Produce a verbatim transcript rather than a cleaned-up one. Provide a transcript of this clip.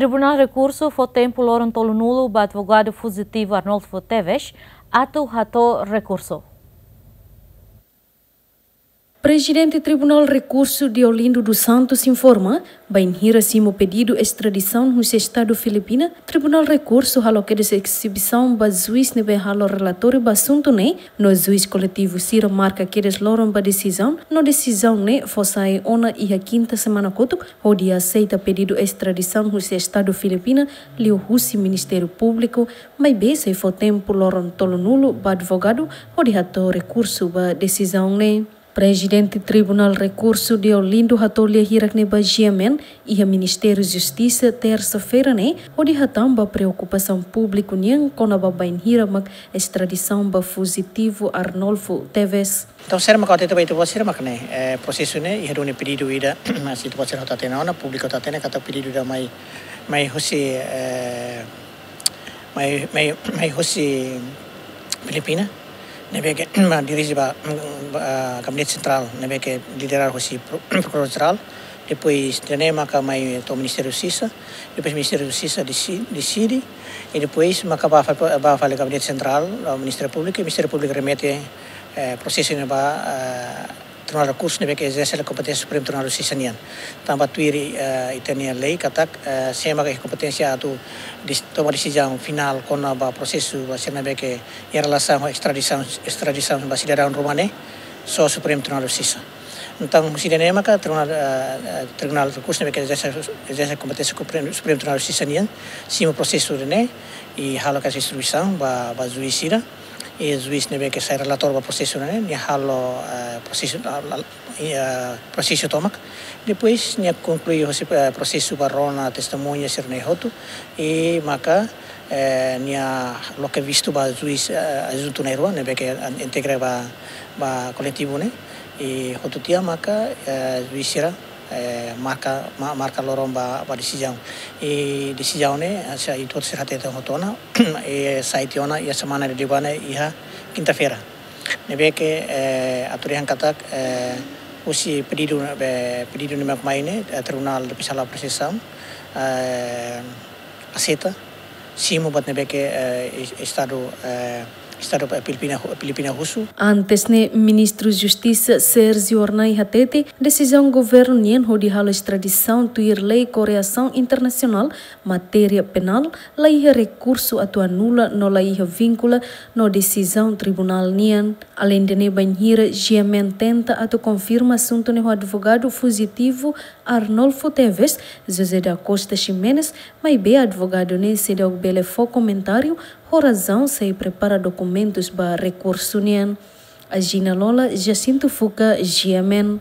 Tribunál Rekursu fó tempu loron tolunulu ba advogadu fujitivu Arnolfo Teves atu hato'o rekursu. Prezidente Tribunál Rekursu Deolindo dos Santos informa, bainhira simu pedidu estradisaun husi Estadu Filipina, Tribunál Rekursu halo kedas exibisaun ba juís ne'ebé halo relatóriu ba asuntu ne'e, no juís koletivu sira marka kedas loron ba desizaun, no desizaun ne'e fó sai ona iha kinta semana kotuk, hodi aseita pedidu estradisaun husi Estadu Filipina liuhusi Ministériu Públiku, maibé sei fó tempu loron tolunulu ba advogadu hodi hato'o rekursu ba desizaun ne'e. Prezidente Tribunál Rekursu Deolindo hato'o lia hirak ne'e ba G M N iha Ministériu Justisa tersa-feira ne'e, hodi hatán ba preokupasaun públiku nian kona-ba bainhira mak estradisaun ba fujitivu Arnolfo Teves. Entaun, sira maka hatete ba ita-boot sira mak ne'e, eh, prosesu ne'e iha duni pedidu ida, mas ita-boot sira hotu hatene ona, públiku hotu hatene katak pedidu ida mai, mai husi, eh, mai, mai, mai husi Filipina, ne'ebé ke, ma dirije ba, ba Gabinete Sentrál, ne'ebé ke lidera husi Pro-, Prokuradór Jerál, depois ida-ne'e maka mai to'o Ministériu Justisa, depois Ministériu Justisa desi-, deside, i depois maka ba fa-, ba fali Gabinete Sentrál, ah, Ministériu Públiku, i Ministériu Públiku remete, eh, prosesu ne'e ba, eh, Tribunál Rekursu ne'ebé ke ezerse hela kompeténsia Supremu Tribunál Justisa nian. Tanba tuir, eh, ita-nia lei katak, eh, sé mak iha kompeténsia atu des-, toma desizaun finál kona-ba prosesu ba sira ne'ebé ke iha relasaun ho estradisaun, estradisaun ba sidadaun ruma ne'e, só Supremu Tribunál Justisa. Entaun, husi ida-ne'e maka Tribunál, eh, eh, Tribunál Rekursu ne'ebé ke ezerse, ezerse kompeténsia Supremu, Supremu Tribunál Justisa nian, simu prosesu ida-ne'e, i halo kedas instrusaun ba, ba juís sira, i juís ne'ebé ke sai relatór ba prosesu ne'e, nia halo, eh, prosesu, ah, la-, eh, prosesu tomak. Depois, nia konklui husi, eh, prosesu ba rona testemuña sira-ne'e hotu, i maka, eh, nia loke vistu ba juís, eh, adjuntu na'in-rua, ne'ebé ke an-, integra ba, ba koletivu ne'e, i hotu tiha maka, eh, juís sira, eh, marka, ma-, marka loron ba, ba desizaun. I desizaun ne'e, ah, se ita-boot sira hatete hotu ona, i sai tiha ona iha semana ida de'it ne'e iha kinta-feira. Ne'ebé ke, eh, atu dehan katak, eh, husi pedidu, eh, pedidu ne'e mak mai ne'e, eh, Tribunál de Apelasaun, eh, aseita, simu buat ne'ebé ke, eh, es-, Estadu, eh, Estadu Filipina hu-, Filipina husu. Antes ne'e, Ministru Justisa Sérgio Hornai hatete, desizaun governu nian hodi halo estradisaun tuir lei kooperasaun internasionál matéria penál, la iha rekursu atu anula no la iha vínkula no desizaun tribunál nian. Aleinde ne'e, bainhira G M N tenta atu konfirma asuntu ne'e ho advogadu fujitivu Arnolfo Teves, José da Costa Ximenes, maibé advogadu ne'e seidauk bele fó komentáriu ho razaun sei prepara dokumentus ba rekursu nian. Agina Lola, Jacinto Fuca, G M N.